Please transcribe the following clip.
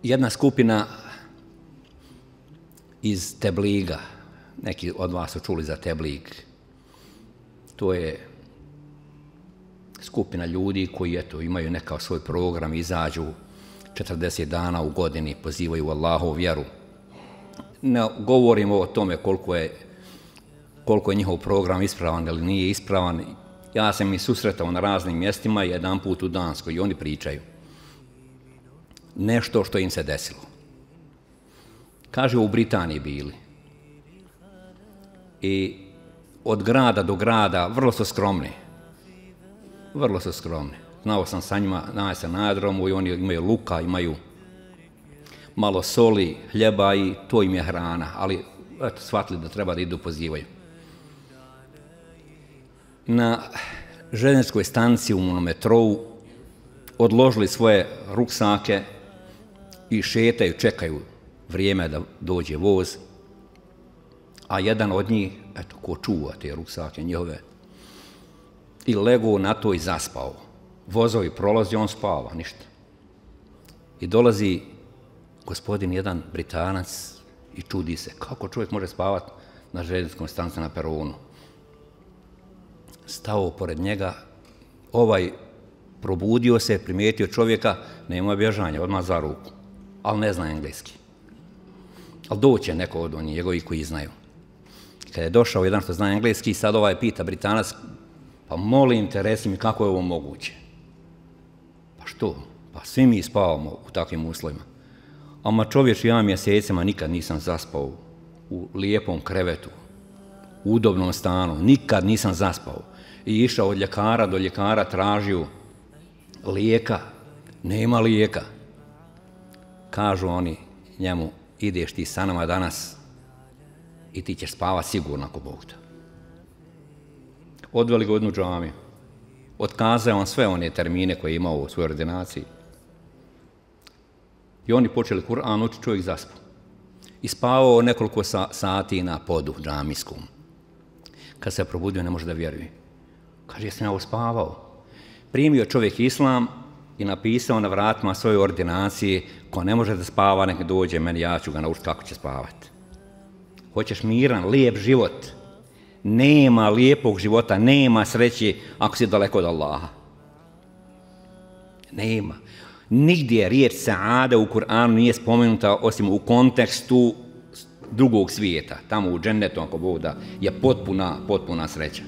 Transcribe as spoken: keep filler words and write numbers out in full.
jedna skupina iz Tebliga, neki od vas su čuli za Teblig, to je skupina ljudi koji eto, imaju nekav svoj program, izađu četrdeset dana u godini, pozivaju Allahovu vjeru. Ne govorimo o tome koliko je, koliko je njihov program ispravan ili nije ispravan. Ja sam ih susretao na raznim mjestima, jedan put u Danskoj, i oni pričaju nešto što im se desilo. Kaže, u Britaniji bili. I od grada do grada vrlo su skromni. Vrlo su skromni. Znao sam sa njima, naći se na aerodromu i oni imaju luka, imaju malo soli, hljeba i to im je hrana, ali eto, shvatili da treba da idu pozivaju. Na željezničkoj stanici u metrou odložili svoje ruksake i šetaju, čekaju vrijeme da dođe voz, a jedan od njih, eto, ko čuva te ruksake njihove, i legao na to i zaspao. Vozovi prolazi, on spava, ništa. I dolazi gospodin, jedan Britanac, i čudi se, kako čovjek može spavati na željezničkom stanici na peronu. Stao pored njega, ovaj probudio se, primijetio čovjeka, nema bježanja, odmah za ruku, ali ne zna engleski. Ali doće neko od onih njegovi koji znaju. Kada je došao jedan što zna engleski, sad ovaj pita Britanac, pa molim te, reci mi kako je ovo moguće. Pa što? Pa svi mi spavamo u takvim uslovima. Ama čovječ, ja mjesecima nikad nisam zaspao u lijepom krevetu, u udobnom stanu, nikad nisam zaspao. I išao od ljekara do ljekara, tražio lijeka, nema lijeka. Kažu oni njemu, ideš ti sa nama danas i ti ćeš spavati sigurno ako Bog da. Odveli ga u jednu džamiju. Otkazao on sve one termine koje je imao u svojoj ordinaciji. I oni počeli Kur'an učiti, čovjek zaspao. I spavao nekoliko sati na podu džamijskom. Kad se probudio, ne može da vjeruje. Kaže, jesam ja uspavao. Primio čovjek islam i napisao na vratima svoje ordinacije, ko ne može da spava, nek dođe meni, ja ću ga naučiti kako će spavati. Hoćeš miran, lijep život. Nema lijepog života, nema sreće ako si daleko od Allaha. Nema. Nigdje riječ saada u Kur'anu nije spomenuta osim u kontekstu drugog svijeta. Tamo u džennetu, ako Bog da, je potpuna, potpuna sreća.